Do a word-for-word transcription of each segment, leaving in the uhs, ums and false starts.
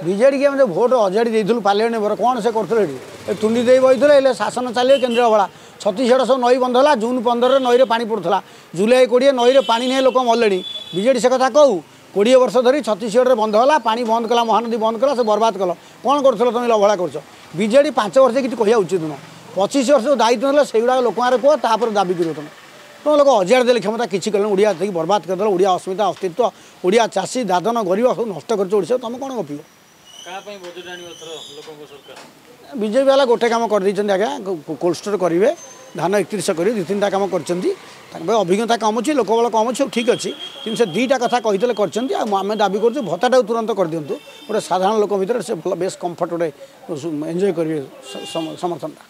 ବିଜେଡ଼ିକି ଆମେ ଯେଉଁ ଭୋଟ ଅଜାଡ଼ି ଦେଇଥିଲୁ ପାର୍ଲାମେଣ୍ଟ ମେମ୍ବର, କ'ଣ ସେ କରୁଥିଲେ ଏଠି? ଏ ତୁଣ୍ଡି ଦେଇ ବହିଥିଲେ, ହେଲେ ଶାସନ ଚାଲିବ କେନ୍ଦ୍ରୀୟ ଅବହେଳା। ଛତିଶଗଡ଼ ସବୁ ନଈ ବନ୍ଧ ହେଲା, ଜୁନ୍ ପନ୍ଦରରେ ନଈରେ ପାଣି ପଡ଼ୁଥିଲା, ଜୁଲାଇ କୋଡ଼ିଏ ନଈରେ ପାଣି ନେଇ ଲୋକ ମଲେଣି। ବିଜେଡ଼ି ସେ କଥା କହୁ, କୋଡ଼ିଏ ବର୍ଷ ଧରି ଛତିଶଗଡ଼ରେ ବନ୍ଧ ହେଲା, ପାଣି ବନ୍ଦ କଲା, ମହାନଦୀ ବନ୍ଦ କଲା, ସେ ବର୍ବାଦ କଲ। କ'ଣ କରୁଥିଲ ତୁମେ? ଅବହେଳା କରୁଛ। ବିଜେଡ଼ି ପାଞ୍ଚ ବର୍ଷ କିଛି କହିବା ଉଚିତ ନୁହଁ। ପଚିଶ ବର୍ଷ ଯେଉଁ ଦାୟିତ୍ୱ ନେଲେ ସେଇଗୁଡ଼ାକ ଲୋକଙ୍କ କୁହ, ତାପରେ ଦାବି କରିବ ତୁମେ। ତୁମ ଲୋକ ଅଜାଡ଼ି ଦେଲେ କ୍ଷମତା, କିଛି କଲେନି, ଓଡ଼ିଆ ଦେଇକି ବର୍ବାଦ କରିଦେଲ। ଓଡ଼ିଆ ଅସ୍ମିତା, ଅସ୍ତିତ୍ୱ, ଓଡ଼ିଆ ଚାଷୀ, ଦାଦନ, ଗରିବ ସବୁ ନଷ୍ଟ କରିଛ ଓଡ଼ିଶା। ତୁମେ କ'ଣ ଗପିବ? ବିଜେପି ବାଲା ଗୋଟେ କାମ କରିଦେଇଛନ୍ତି ଆଜ୍ଞା, କୋଲ୍ଡ ଷ୍ଟୋର୍ କରିବେ, ଧାନ ଏକତିରିଶ କରିବେ, ଦୁଇ ତିନିଟା କାମ କରିଛନ୍ତି। ତାଙ୍କ ପାଇଁ ଅଭିଜ୍ଞତା କମ୍ ଅଛି, ଲୋକବଳ କମ୍ ଅଛି, ସବୁ ଠିକ୍ ଅଛି, କିନ୍ତୁ ସେ ଦୁଇଟା କଥା କହିଥିଲେ, କରିଛନ୍ତି। ଆଉ ଆମେ ଦାବି କରୁଛୁ ଭତ୍ତାଟାକୁ ତୁରନ୍ତ କରିଦିଅନ୍ତୁ। ଗୋଟେ ସାଧାରଣ ଲୋକ ଭିତରେ ସେ ଭଲ ବେଶ କମ୍ଫର୍ଟ ଗୋଟେ ଏନ୍ଜୟ କରିବେ ସମର୍ଥନଟା।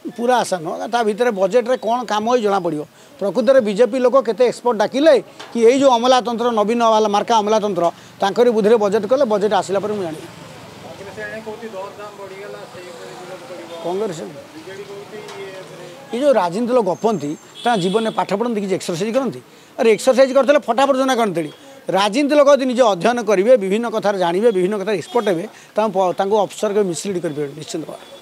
ପୁରା ଆଶା ନୁହଁ, ତା ଭିତରେ ବଜେଟ୍ରେ କ'ଣ କାମ ହେଇ ଜଣାପଡ଼ିବ। ପ୍ରକୃତରେ ବିଜେପି ଲୋକ କେତେ ଏକ୍ସପର୍ଟ ଡାକିଲେ କି ଏଇ ଯେଉଁ ଅମଲାତନ୍ତ୍ର, ନବୀନ ବାଲା ମାର୍କା ଅମଲାତନ୍ତ୍ର, ତାଙ୍କରି ବୁଦ୍ଧିରେ ବଜେଟ୍ କଲେ। ବଜେଟ୍ ଆସିଲା ପରେ ମୁଁ ଜାଣିବି। କଂଗ୍ରେସ ଏ ଯେଉଁ ରାଜନୀତି ଲୋକ ଗପନ୍ତି, ତାଙ୍କ ଜୀବନରେ ପାଠ ପଢ଼ନ୍ତି, କିଛି ଏକ୍ସରସାଇଜ୍ କରନ୍ତି? ଆରେ ଏକ୍ସରସାଇଜ୍ କରିଥିଲେ ଫଟାଫଟ ଜଣା କରନ୍ତିନି। ରାଜନୀତି ଲୋକ ଯଦି ନିଜେ ଅଧ୍ୟୟନ କରିବେ, ବିଭିନ୍ନ କଥାରେ ଜାଣିବେ, ବିଭିନ୍ନ କଥାରେ ଏକ୍ସପର୍ଟ ହେବେ, ତାଙ୍କୁ ତାଙ୍କୁ ଅଫିସର କେବେ ମିସଲିଡ୍ କରିପାରିବେ ନିଶ୍ଚିନ୍ତ ଭାବରେ।